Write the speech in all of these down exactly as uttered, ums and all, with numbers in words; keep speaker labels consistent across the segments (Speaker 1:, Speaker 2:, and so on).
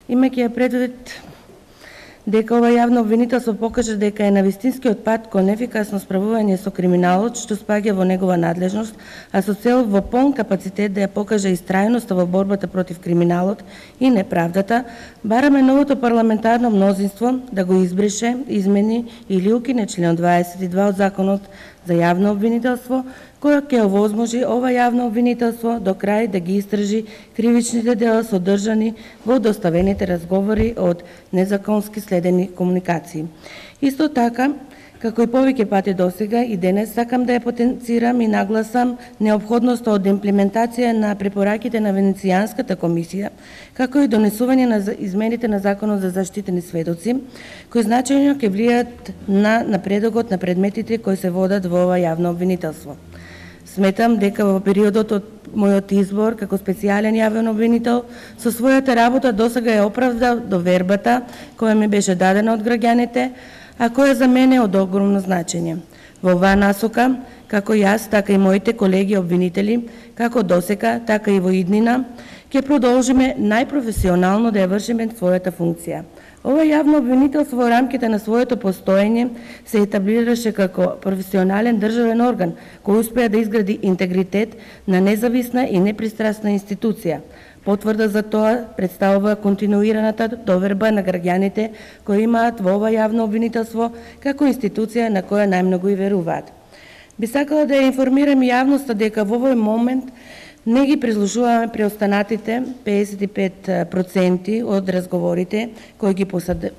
Speaker 1: имајќи ја предвид дека ова јавно обвинителство покажа дека е на вистинскиот пат кон ефикасно справување со криминалот што спаѓа во негова надлежност, а со цел во полн капацитет да ја покаже истрајноста во борбата против криминалот и неправдата, бараме новото парламентарно мнозинство да го избрише, измени или укине член дваесет и два од Законот за јавно обвинителство, која ќе овозможи ова јавно обвинителство до крај да ги истражи кривичните дела содржани во доставените разговори од незаконски следени комуникации. Исто така, како и повеќе пати досега, и денес сакам да ја потенцирам и нагласам неопходноста од имплементација на препораките на Венецијанската комисија, како и донесување на измените на Законот за заштитени сведоци, кои значајно ќе влијат на напредокот на предметите кои се водат во ова јавно обвинителство. Сметам дека во периодот од мојот избор како специјален јавен обвинител со својата работа досега ја оправдав довербата која ми беше дадена од граѓаните, а која за мене е од огромно значење. Во оваа насока, како јас, така и моите колеги обвинители, како досека, така и во иднина, ќе продолжиме најпрофесионално да ја вршиме својата функција. Ова јавно обвинителство во рамките на своето постоење се етаблираше како професионален државен орган кој успеа да изгради интегритет на независна и непристрасна институција. Потврда за тоа представува континуираната доверба на граѓаните кои имаат во ова јавно обвинителство како институција на која најмногу и веруваат. Би сакала да ја информирам јавноста дека во овој момент не ги прислушуваме преостанатите педесет и пет проценти од разговорите кои ги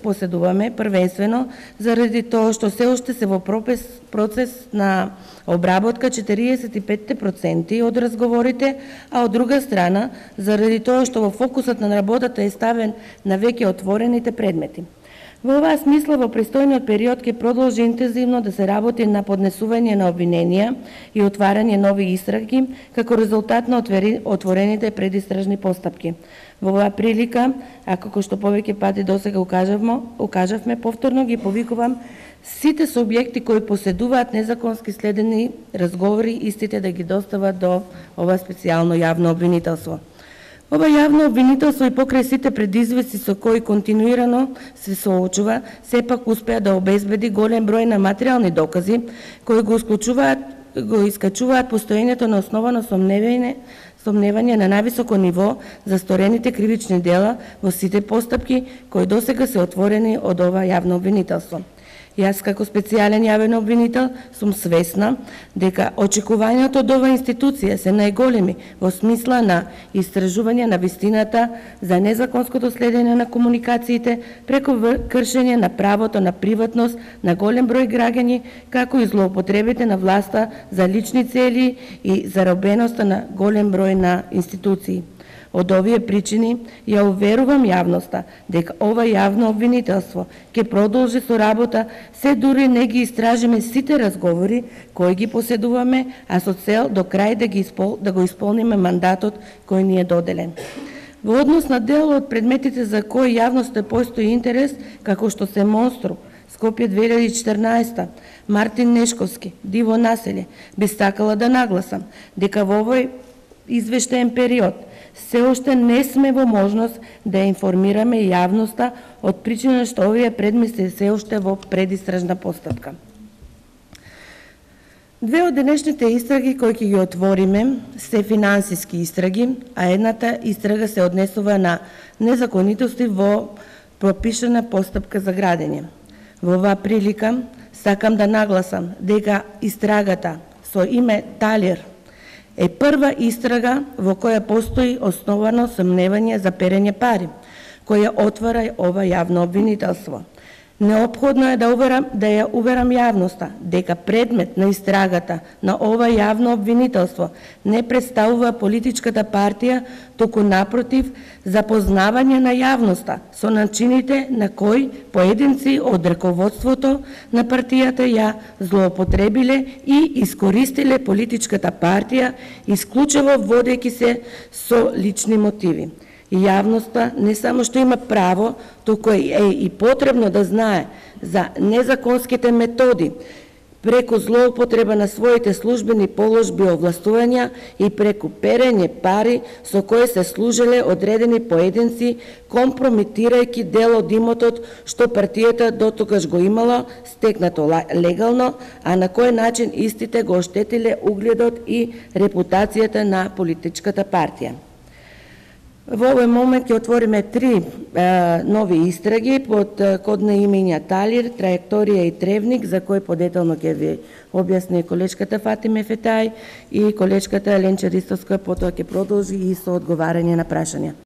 Speaker 1: поседуваме, првенствено заради тоа што се уште се во процес на обработка четириесет и пет проценти од разговорите, а од друга страна заради тоа што во фокусот на работата е ставен на веќе отворените предмети. Во оваа смисла, во престојниот период ќе продолжи интензивно да се работи на поднесување на обвиненија и отварање нови истраги како резултат на отворените предистражни постапки. Во оваа прилика, а како што повеќе пати досега укажавме, укажавме, повторно ги повикувам сите субјекти кои поседуваат незаконски следени разговори, истите да ги достават до ова специјално јавно обвинителство. Ова јавно обвинителство и покрај сите предизвици со кои континуирано се соочува, сепак успеа да обезбеди голем број на материјални докази кои го исклучуваат, го искачуваат постоењето на основано сомневање, сомневање на највисоко ниво за сторените кривични дела во сите постапки кои досега се отворени од ова јавно обвинителство. Јас како специјален јавен обвинител сум свесна дека очекувањата од ова институција се најголеми во смисла на истражување на вистината за незаконското следење на комуникациите преку кршење на правото на приватност на голем број граѓани, како и злоупотребите на власта за лични цели и заробеноста на голем број на институции. Од овие причини ја уверувам јавноста дека ова јавно обвинителство ќе продолжи со работа се дури не ги истражиме сите разговори кои ги поседуваме, а со цел до крај да, ги испол... да го исполниме мандатот кој ни е доделен. Во однос на дел од предметите за кои јавноста постои интерес, како што се Монструм, Скопје две илјади и четрнаесета, Мартин Нешковски, Диво населје, би сакала да нагласам дека во овој извештаен период се уште не сме во можност да информираме јавноста од причина што овие предмети се уште во предистражна постапка. Две од денешните истраги кои ќе ги отвориме се финансиски истраги, а едната истрага се однесува на незаконитости во пропишана постапка за градење. Во оваа прилика сакам да нагласам дека истрагата со име Талир е прва истрага во која постои основано сомневање за перење пари, која отвара ова јавно обвинителство. Неопходно е да, уверам, да ја уверам јавноста дека предмет на истрагата на ова јавно обвинителство не представува политичката партија, туку напротив запознавање на јавноста со начините на кои поединци од раководството на партијата ја злоупотребиле и искористиле политичката партија, исклучиво водејќи се со лични мотиви. И јавноста не само што има право, туку е и потребно да знае за незаконските методи преку злоупотреба на своите службени положби и овластувања и преку перење пари со кои се служеле одредени поединци, компрометирајќи дел од имотот што партијата дотогаш го имала стекнато легално, а на кој начин истите го оштетиле угледот и репутацијата на политичката партија. Во овој момент ќе отвориме три е, нови истраги под кодна имења Талир, Траекторија и Тревник, за кој подетално ќе ви објасни колечката Фатиме Фетај и колечката Ленча Ристовска, потоа ќе продолжи и со одговарање на прашања.